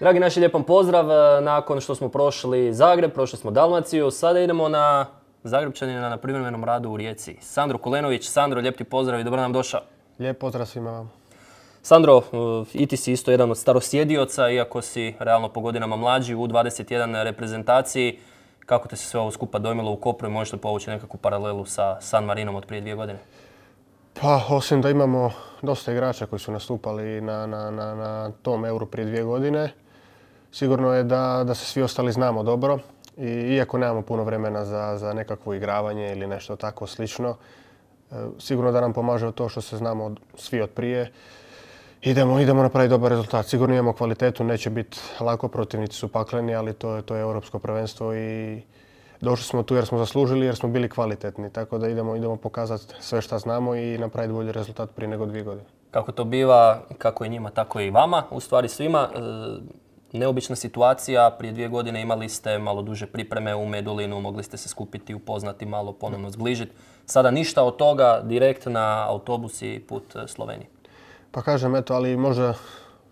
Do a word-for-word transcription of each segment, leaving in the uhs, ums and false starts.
Dragi naši, lijepom pozdrav. Nakon što smo prošli Zagreb, prošli smo Dalmaciju, sada idemo na Zagrebčanina na privremenom radu u Rijeci. Sandro Kulenović. Sandro, lijep ti pozdrav i dobro nam došao. Lijep pozdrav svima vam. Sandro, i ti si isto jedan od starosjedioca, iako si realno po godinama mlađi u dvadeset jedan reprezentaciji. Kako te se sve ovo skupa dojmilo u Kopru i možeš li povući nekakvu paralelu sa San Marinom od prije dvije godine? Pa, osim da imamo dosta igrača koji su nastupali na, na, na, na tom Euru prije dvije godine, sigurno je da, da se svi ostali znamo dobro. I, iako nemamo puno vremena za, za nekakvo igravanje ili nešto tako slično, sigurno da nam pomaže to što se znamo svi od prije. Idemo, idemo napraviti dobar rezultat. Sigurno imamo kvalitetu, neće biti lako, protivnici su pakleni, ali to je, to je europsko prvenstvo i došli smo tu jer smo zaslužili, jer smo bili kvalitetni. Tako da idemo, idemo pokazati sve što znamo i napraviti bolji rezultat prije nego dvije godine. Kako to biva, kako i njima, tako i vama, u stvari svima. Neobična situacija, prije dvije godine imali ste malo duže pripreme u Medulinu, mogli ste se skupiti, upoznati, malo ponovno zbližiti. Sada ništa od toga, direkt na autobus i put Slovenije. Pa kažem, eto, ali možda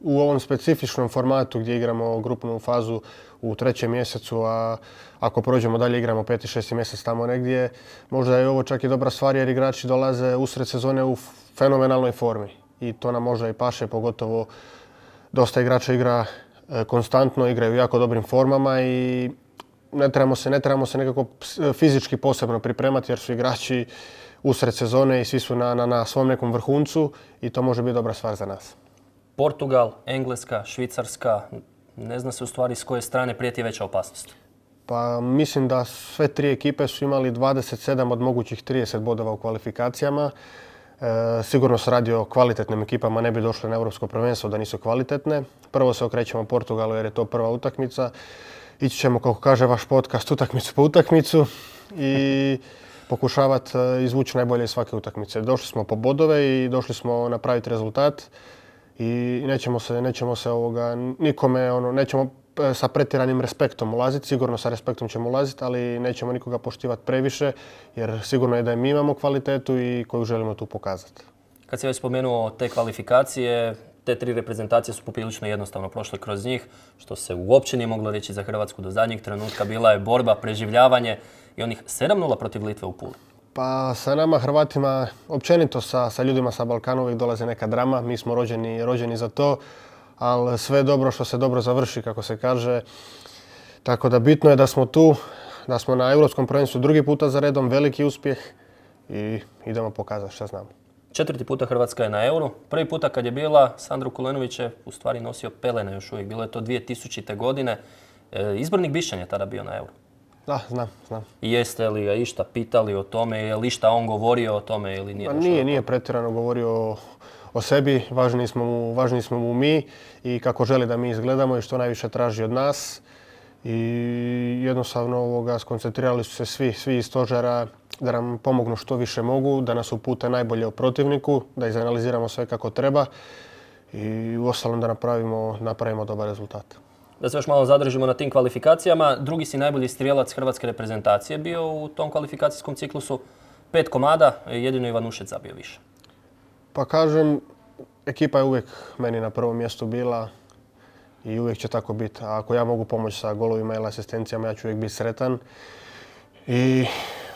u ovom specifičnom formatu gdje igramo grupnu fazu u trećem mjesecu, a ako prođemo dalje igramo peti, šesti mjesec tamo negdje, možda je ovo čak i dobra stvar jer igrači dolaze usred sezone u fenomenalnoj formi. I to nam možda i paše, pogotovo dosta igrača igra konstantno, igraju u jako dobrim formama i ne trebamo se, ne trebamo se nekako fizički posebno pripremati jer su igrači usred sezone i svi su na, na, na svom nekom vrhuncu i to može biti dobra stvar za nas. Portugal, Engleska, Švicarska, ne zna se u stvari s koje strane prijeti veća opasnost. Pa mislim da sve tri ekipe su imali dvadeset sedam od mogućih trideset bodova u kvalifikacijama. E, sigurno se radi o kvalitetnim ekipama, ne bi došle na Europsko prvenstvo da nisu kvalitetne. Prvo se okrećemo Portugalu jer je to prva utakmica. Ići ćemo, kako kaže vaš podcast, utakmicu po utakmicu i pokušavati izvući najbolje iz svake utakmice. Došli smo po bodove i došli smo napraviti rezultat i nećemo se, nećemo se ovoga, nikome, ono, nećemo sa pretjeranim respektom ulaziti, sigurno sa respektom ćemo ulaziti, ali nećemo nikoga poštivati previše jer sigurno je da mi imamo kvalitetu i koju želimo tu pokazati. Kad si već spomenuo te kvalifikacije, te tri reprezentacije su poprilično jednostavno prošle kroz njih, što se uopće nije moglo reći za Hrvatsku do zadnjeg trenutka. Bila je borba, preživljavanje i onih sedam nula protiv Litve u Puli. Pa sa nama Hrvatima, općenito sa, sa ljudima sa Balkana uvijek dolazi neka drama. Mi smo rođeni, rođeni za to, ali sve je dobro što se dobro završi, kako se kaže. Tako da bitno je da smo tu, da smo na Europskom prvenstvu drugi puta za redom, veliki uspjeh i idemo pokazati što znamo. Četvrti puta Hrvatska je na Euru. Prvi puta kad je bila, Sandro Kulenović je u stvari nosio pelene još uvijek. Bilo je to dvije tisućite. godine. E, izbornik Bišćan je tada bio na Euru. Da, znam, znam. I jeste li ga išta pitali o tome, je li išta on govorio o tome ili nije? Ma nije, nije pretjerano govorio o, o sebi, važniji smo, mu, važniji smo mu mi i kako želi da mi izgledamo i što najviše traži od nas. I jednostavno ovoga, skoncentrirali su se svi, svi iz stožera da nam pomognu što više mogu, da nas upute najbolje o protivniku, da izanaliziramo sve kako treba i uostalom da napravimo, napravimo dobar rezultat. Da se još malo zadržimo na tim kvalifikacijama. Drugi si najbolji strijelac hrvatske reprezentacije bio u tom kvalifikacijskom ciklusu. Pet komada, jedino Ivanušec zabio više. Pa kažem, ekipa je uvijek meni na prvom mjestu bila i uvijek će tako biti. A ako ja mogu pomoći sa golovima ili asistencijama, ja ću uvijek biti sretan. I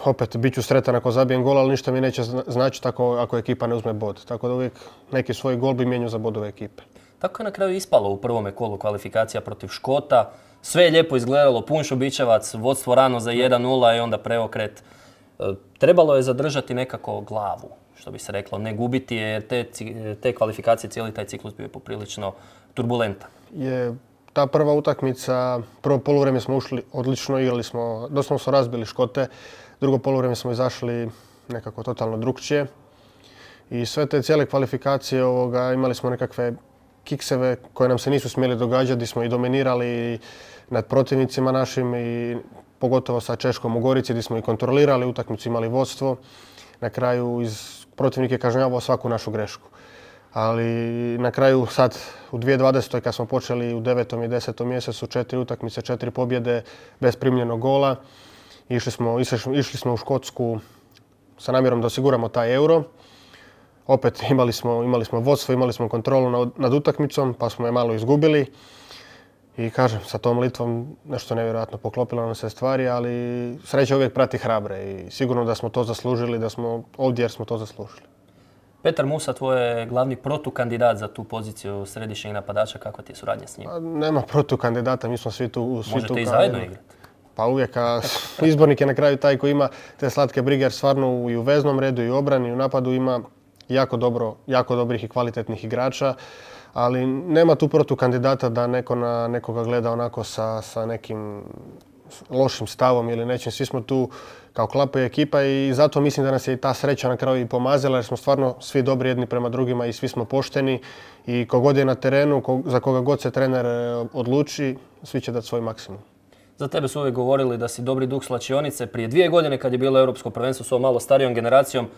opet, bit ću sretan ako zabijem gol, ali ništa mi neće značiti ako, ako ekipa ne uzme bod. Tako da uvijek neki svoj gol bi mijenjao za bodove ekipe. Tako je na kraju ispalo u prvome kolu kvalifikacija protiv Škota. Sve je lijepo izgledalo, pun Šubićevac, vodstvo rano za jedan nula i onda preokret. Trebalo je zadržati nekako glavu, što bi se reklo, ne gubiti jer te, te kvalifikacije, cijeli taj ciklus bio je poprilično turbulentan. Je ta prva utakmica, prvo poluvrijeme smo ušli odlično, igrali smo, doslovno smo razbili Škote, drugo poluvrijeme smo izašli nekako totalno drukčije. I sve te cijele kvalifikacije ovoga, imali smo nekakve kikseve koje nam se nisu smjeli događati, gdje smo i dominirali nad protivnicima našim i pogotovo sa Češkom u Gorici gdje smo i kontrolirali utakmicu, imali vodstvo. Na kraju iz protivnik je kažnjavao svaku našu grešku. Ali na kraju sad u dvije tisuće dvadesetoj kad smo počeli u devetom i desetom mjesecu četiri utakmice, četiri pobjede bez primljenog gola. Išli smo, išli smo u Škotsku sa namjerom da osiguramo taj Euro. Opet imali smo, imali smo vodstvo, imali smo kontrolu nad, nad utakmicom pa smo je malo izgubili. I kažem, sa tom Litvom nešto nevjerojatno poklopilo nam se stvari, ali sreća uvijek prati hrabre i sigurno da smo to zaslužili, da smo ovdje jer smo to zaslužili. Petar Musa, tvoj je glavni protukandidat za tu poziciju središnjeg napadača. Kakva ti je suradnja s njim? A, nema protukandidata, mi smo svi tu. Svi Možete tu i kao zajedno jedno. igrati. Pa uvijek, a izbornik je na kraju taj koji ima te slatke brige, jer stvarno i u veznom redu i u obrani i u napadu ima jako, dobro, jako dobrih i kvalitetnih igrača. Ali nema tu protukandidata da neko na nekoga gleda onako sa, sa nekim lošim stavom ili nečim. Svi smo tu kao klapa i ekipa i zato mislim da nas je i ta sreća na kraju i pomazila jer smo stvarno svi dobri jedni prema drugima i svi smo pošteni i kogod je na terenu, za koga god se trener odluči, svi će dati svoj maksimum. Za tebe su uvijek govorili da si dobri duh slačionice. Prije dvije godine kad je bilo europsko prvenstvo s ovom malo starijom generacijom,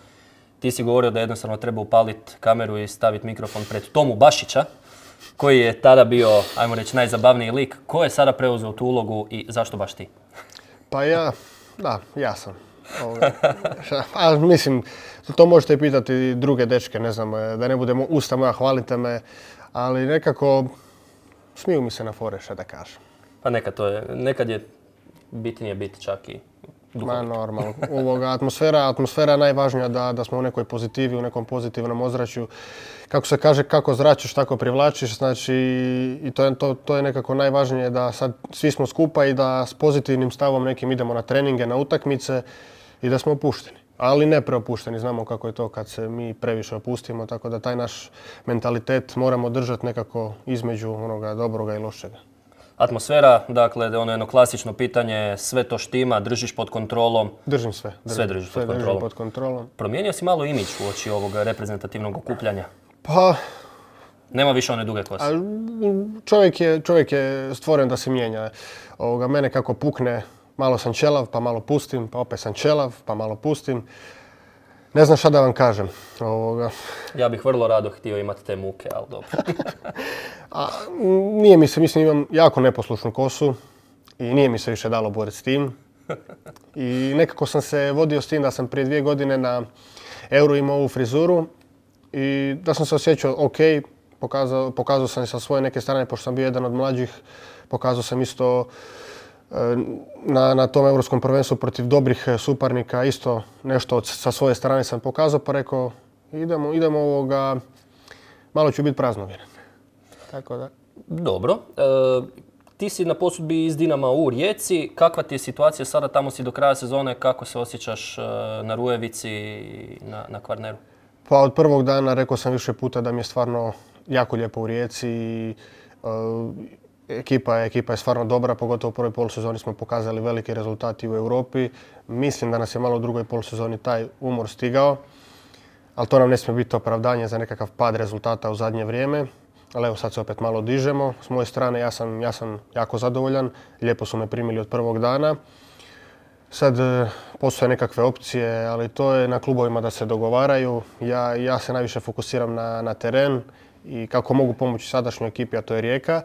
ti si govorio da jednostavno treba upaliti kameru i staviti mikrofon pred Tomu Bašića, koji je tada bio, ajmo reći, najzabavniji lik. Ko je sada preuzeo tu ulogu i zašto baš ti? Pa ja, da, ja sam. Ovoga. A, mislim, to možete pitati druge dečke, ne znam, da ne budemo usta moja, hvalite me, ali nekako smiju mi se na fore, šta da kažem. Pa nekad to je, nekad je bitnije biti čak i duhovit. Ma normalno. Ovoga, atmosfera, atmosfera je najvažnija da, da smo u nekoj pozitivi, u nekom pozitivnom ozračju. Kako se kaže, kako zračiš, tako privlačiš. Znači, i to je, to, to je nekako najvažnije da sad svi smo skupa i da s pozitivnim stavom nekim idemo na treninge, na utakmice i da smo opušteni. Ali ne preopušteni, znamo kako je to kad se mi previše opustimo, tako da taj naš mentalitet moramo držati nekako između onoga dobroga i lošega. Atmosfera, dakle, ono jedno klasično pitanje, sve to štima, držiš pod kontrolom? Držim sve. Držim, sve držiš sve pod, kontrolom. pod kontrolom. Promijenio si malo imidž u oči ovog reprezentativnog okupljanja? Pa... Nema više one duge kose? Čovjek je, čovjek je stvoren da se mijenja. Ovoga, mene kako pukne, malo sam ćelav, pa malo pustim, pa opet sam ćelav, pa malo pustim. Ne znam šta da vam kažem. Ovoga. Ja bih vrlo rado htio imati te muke, ali dobro. A, nije mi se, mislim, imam jako neposlušnu kosu i nije mi se više dalo boriti s tim. I nekako sam se vodio s tim da sam prije dvije godine na Euro imao ovu frizuru i da sam se osjećao ok, pokazao, pokazao sam sa svoje neke strane, pošto sam bio jedan od mlađih, pokazao sam isto Na, na tom europskom prvenstvu protiv dobrih suparnika isto nešto od, sa svoje strane sam pokazao, pa rekao idemo, idemo ovoga, malo ću biti praznovjeren. Tako da. Dobro. E, ti si na posudbi iz Dinama u Rijeci. Kakva ti je situacija sada? Tamo si do kraja sezone. Kako se osjećaš na Rujevici i na, na Kvarneru? Pa od prvog dana rekao sam više puta da mi je stvarno jako lijepo u Rijeci i e, Ekipa je, ekipa je stvarno dobra, pogotovo u prvoj polusezoni smo pokazali velike rezultati u Europi. Mislim da nas je malo u drugoj polusezoni taj umor stigao, ali to nam ne smije biti opravdanje za nekakav pad rezultata u zadnje vrijeme. Ali evo sad se opet malo dižemo. S moje strane ja sam, ja sam jako zadovoljan, lijepo su me primili od prvog dana. Sad postoje nekakve opcije, ali to je na klubovima da se dogovaraju. Ja, ja se najviše fokusiram na, na teren i kako mogu pomoći sadašnjoj ekipi, a to je Rijeka.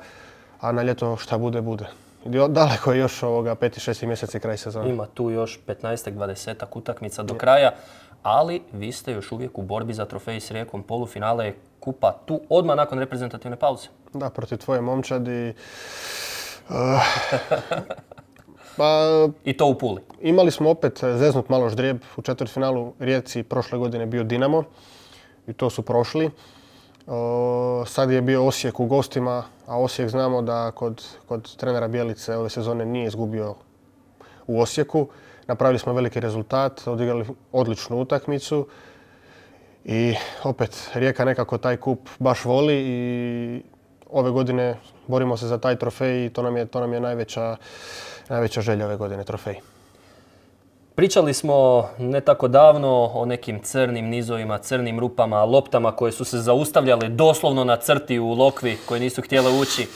A na ljeto šta bude, bude. Daleko je još ovoga peti, šesti mjeseci kraj sezone. Ima tu još petnaest dvadeset utakmica do kraja, ali vi ste još uvijek u borbi za trofej s Rijekom. Polufinale je kupa tu odmah nakon reprezentativne pauze. Da, protiv tvoje momčadi. Uh, pa, I to u Puli. Imali smo opet zeznut malo ždrijeb. U četvrtfinalu Rijeci prošle godine bio Dinamo i to su prošli. O, sad je bio Osijek u gostima, a Osijek znamo da kod, kod trenera Bjelice ove sezone nije izgubio u Osijeku. Napravili smo veliki rezultat, odigrali odličnu utakmicu i opet Rijeka nekako taj kup baš voli i ove godine borimo se za taj trofej i to nam je, to nam je najveća, najveća želja ove godine, trofej. Pričali smo ne tako davno o nekim crnim nizovima, crnim rupama, loptama koje su se zaustavljale doslovno na crti u Lokvi, koje nisu htjele ući.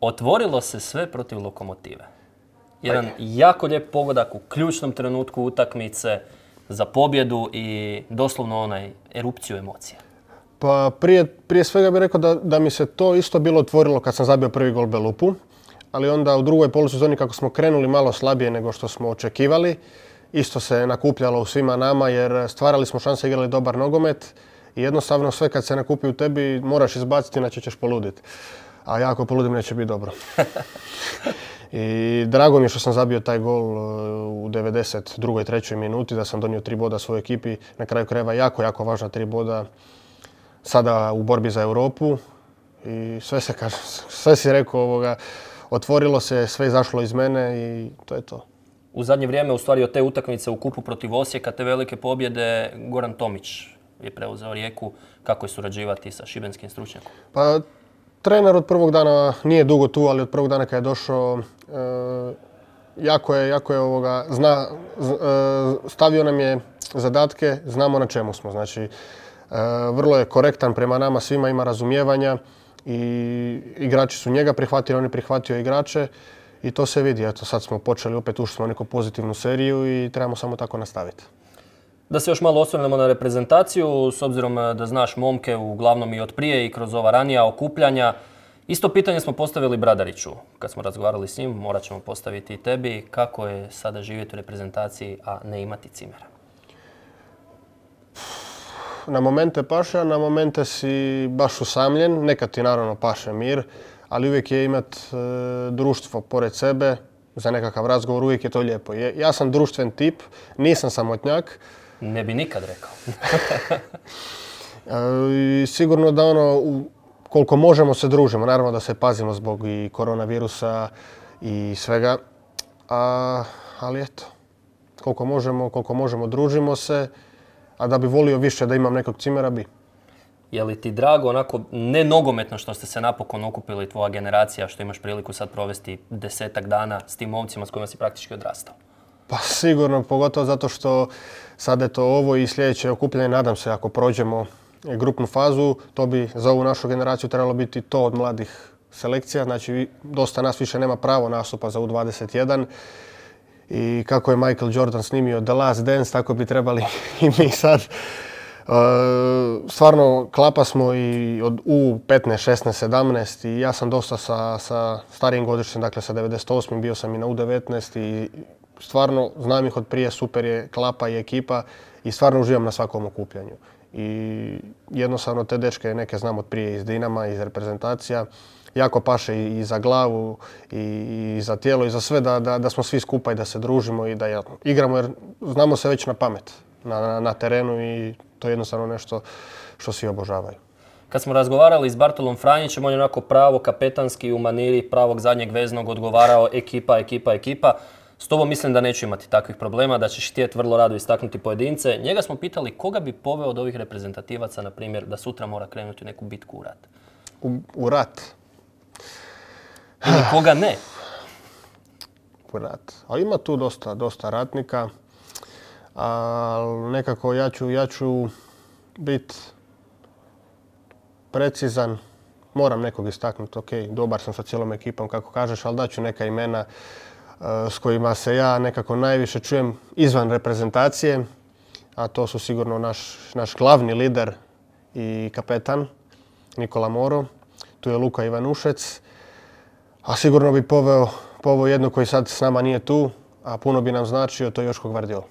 Otvorilo se sve protiv Lokomotive. Jedan jako lijep pogodak u ključnom trenutku utakmice za pobjedu i doslovno onaj erupciju emocija. Pa prije, prije svega bih rekao da, da mi se to isto bilo otvorilo kad sam zabio prvi gol Belupu. Ali onda u drugoj polusezoni kako smo krenuli malo slabije nego što smo očekivali, isto se nakupljalo u svima nama jer stvarali smo šanse, igrali dobar nogomet i jednostavno sve kad se nakupi u tebi moraš izbaciti, inače ćeš poluditi. a ja ako poludim neće biti dobro. I drago mi je što sam zabio taj gol u devedeset drugoj trećoj minuti, da sam donio tri boda svojoj ekipi. Na kraju krajeva jako, jako važna tri boda sada u borbi za Europu. I sve se kaže, sve si rekao ovoga, otvorilo se, sve izašlo iz mene i to je to. U zadnje vrijeme, u stvari od te utakmice u kupu protiv Osijeka, te velike pobjede, Goran Tomić je preuzeo Rijeku. Kako je surađivati sa šibenskim stručnjakom? Pa, trener od prvog dana nije dugo tu, ali od prvog dana kad je došao, e, jako je, jako je ovoga, zna, z, e, stavio nam je zadatke, znamo na čemu smo. Znači, e, vrlo je korektan prema nama, svima ima razumijevanja i igrači su njega prihvatili, on je prihvatio igrače i to se vidi. Eto, sad smo počeli, opet ušli smo u neku pozitivnu seriju i trebamo samo tako nastaviti. Da se još malo osvrnemo na reprezentaciju, s obzirom da znaš momke uglavnom i od prije i kroz ova ranija okupljanja. Isto pitanje smo postavili Bradariću. Kad smo razgovarali s njim, morat ćemo postaviti i tebi. Kako je sada živjeti u reprezentaciji, a ne imati cimera? Na momente paše, a na momente si baš usamljen. Nekad ti naravno paše mir, ali uvijek je imat e, društvo pored sebe za nekakav razgovor, uvijek je to lijepo. Ja sam društven tip, nisam samotnjak. Ne bi nikad rekao. I sigurno da ono, koliko možemo se družimo, naravno da se pazimo zbog i koronavirusa i svega, a, ali eto, koliko možemo, koliko možemo družimo se, a da bi volio više da imam nekog cimera bi. Je li ti drago onako, ne nogometno što ste se napokon okupili, tvoja generacija, što imaš priliku sad provesti desetak dana s tim momcima s kojima si praktički odrastao? Pa sigurno, pogotovo zato što sad je to ovo i sljedeće okupljanje, nadam se ako prođemo grupnu fazu, to bi za ovu našu generaciju trebalo biti to od mladih selekcija. Znači, dosta nas više nema pravo nastupa za U dvadeset jedan. I kako je Michael Jordan snimio The Last Dance, tako bi trebali i mi sad. Stvarno, klapa smo i od U petnaest, šesnaest, sedamnaest i ja sam dosta sa, sa starijim godištem, dakle sa devedeset osmim bio sam i na U devetnaest i stvarno znam ih od prije, super je klapa i ekipa i stvarno uživam na svakom okupljanju. I jednostavno te dečke neke znam od prije iz Dinama, iz reprezentacija. Jako paše i za glavu i za tijelo i za sve da, da, da smo svi skupa i da se družimo i da igramo jer znamo se već na pamet na, na, na terenu i to je jednostavno nešto što svi obožavaju. Kad smo razgovarali s Bartolom Franjićem, on je onako pravo kapetanski u maniri pravog zadnjeg veznog odgovarao ekipa, ekipa, ekipa. S tobom mislim da neću imati takvih problema, da ćeš htjeti vrlo rado istaknuti pojedince. Njega smo pitali koga bi poveo od ovih reprezentativaca, na primjer, da sutra mora krenuti u neku bitku u rat. U, u rat? Ili koga ne? U rat. A ima tu dosta, dosta ratnika. Ali nekako ja ću, ja ću biti precizan. Moram nekog istaknuti, ok, dobar sam sa cijelom ekipom kako kažeš, ali daću neka imena s kojima se ja nekako najviše čujem izvan reprezentacije, a to su sigurno naš, naš glavni lider i kapetan Nikola Moro, tu je Luka Ivanušec, a sigurno bi poveo, poveo jedno koji sad s nama nije tu, a puno bi nam značio, to je Joško Gvardiol.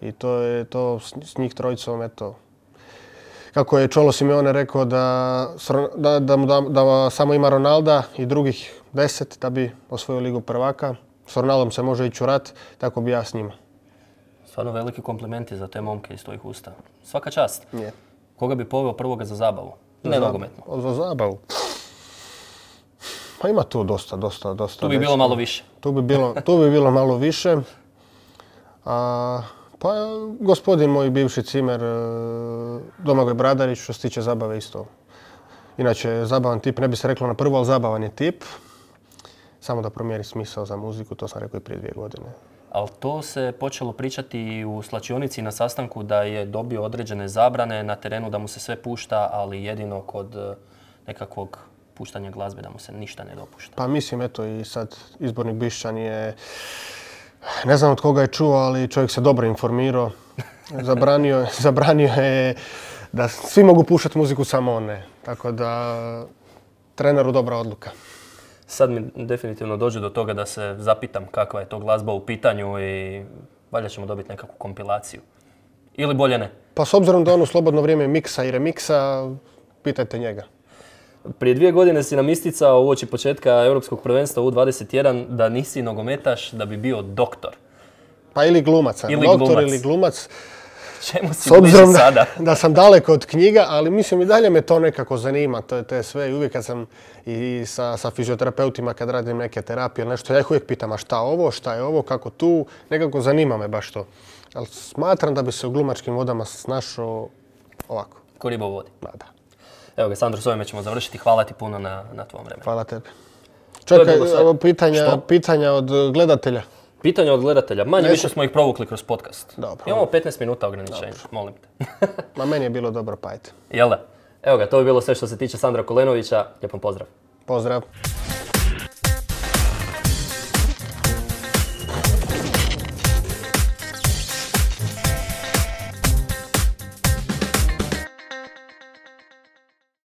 I to je to s njih trojicom, eto, kako je Čolo Simeone rekao da, da, da, da, da samo ima Ronalda i drugih deset da bi osvojio Ligu prvaka. S Ronaldom se može ići u rat, tako bi ja s njima. Stvarno veliki komplimenti za te momke iz tvojih usta. Svaka čast. Je. Koga bi poveo prvoga za zabavu? Za ne zabavu. nogometno. Za zabavu? Pa ima tu dosta, dosta, dosta. Tu bi bilo malo više. Tu bi bilo, tu bi bilo malo više. A, pa gospodin moj bivši cimer Domagoj Bradarić što se tiče zabave isto. Inače, zabavan tip, ne bi se reklo na prvo, ali zabavan je tip. Samo da promijeni smisao za muziku, to sam rekao i prije dvije godine. Ali to se počelo pričati u slačionici na sastanku da je dobio određene zabrane na terenu, da mu se sve pušta, ali jedino kod nekakvog puštanja glazbe da mu se ništa ne dopušta. Pa mislim, eto i sad izbornik Bišćan je, ne znam od koga je čuo, ali čovjek se dobro informirao. Zabranio, zabranio je da svi mogu puštati muziku, samo on ne. Tako da treneru dobra odluka. Sad mi definitivno dođe do toga da se zapitam kakva je to glazba u pitanju i valjda ćemo dobiti nekakvu kompilaciju. Ili bolje ne? Pa s obzirom da on u slobodno vrijeme miksa i remiksa, pitajte njega. Prije dvije godine si nam isticao uoči početka Europskog prvenstva U dvadeset jedan da nisi nogometaš, da bi bio doktor. Pa ili glumac, Ili doktor glumac. ili glumac. Čemu si S obzirom bliži sada? da, da sam daleko od knjiga, ali mislim i dalje me to nekako zanima, to je te sve. I uvijek kad sam i sa, sa fizioterapeutima, kad radim neke terapije ili nešto, ja ih uvijek pitam, a šta ovo, šta je ovo, kako tu, nekako zanima me baš to. Ali smatram da bi se u glumačkim vodama snašao ovako. Ko riba u vodi. Ma da. Evo ga, Sandro, s ovime ćemo završiti. Hvala ti puno na, na tvom vremenu. Hvala tebi. To je Čekaj, bilo sve. evo pitanja, Što? pitanja od gledatelja. Pitanja od gledatelja. Manje Neću- više smo ih provukli kroz podcast. Dobro. Imamo petnaest minuta ograničenja, molim te. Ma meni je bilo dobro, pa ajde. Jel da? Evo ga, to bi bilo sve što se tiče Sandra Kolenovića. Lijep vam pozdrav. Pozdrav.